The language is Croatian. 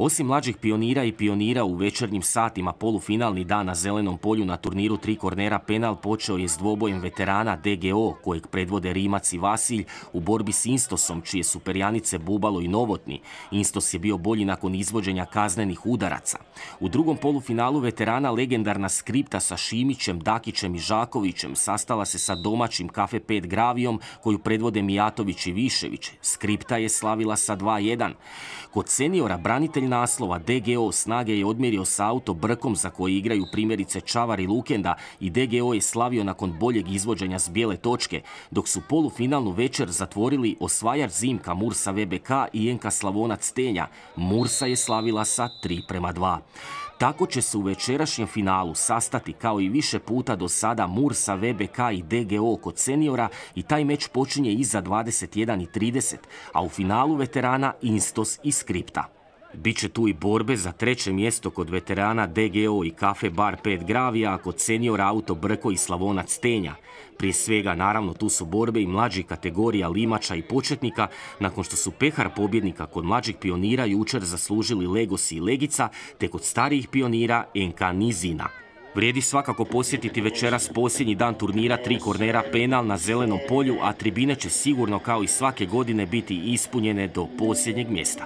Osim mlađih pionira i pionira u večernjim satima polufinalni dan na Zelenom polju na turniru Tri kornera penal počeo je s dvobojem veterana DGO, kojeg predvode Rimac i Vasilj, u borbi s Instosom, čije su perjanice Bubalo i Novotni. Instos je bio bolji nakon izvođenja kaznenih udaraca. U drugom polufinalu veterana legendarna Skripta sa Šimićem, Dakićem i Žakovićem sastala se sa domaćim Kafe 5 Gravijom, koju predvode Mijatović i Višević. Skripta je slavila sa 2:1. Kod seniora branitelj naslova DGO snage je odmjerio sa Auto Brkom, za koji igraju primjerice Čavar i Lukenda, i DGO je slavio nakon boljeg izvođenja s bijele točke, dok su polufinalnu večer zatvorili osvajač Zimka Mursa VBK i NK Slavonac Tenja. Mursa je slavila sa 3:2. Tako će se u večerašnjem finalu sastati kao i više puta do sada Mursa, VBK i DGO kod seniora i taj meč počinje iza 21:30, a u finalu veterana Instos i Skripta. Biće tu i borbe za treće mjesto kod veterana DGO i Kafe Bar 5 Gravija, a kod seniora Auto Brko i Slavonac Tenja. Prije svega, naravno, tu su borbe i mlađih kategorija limača i početnika, nakon što su pehar pobjednika kod mlađih pionira jučer zaslužili Legosi i Legica, te kod starijih pionira NK Nizina. Vrijedi svakako posjetiti večeras posljednji dan turnira Tri kornera penal na Zelenom polju, a tribine će sigurno kao i svake godine biti ispunjene do posljednjeg mjesta.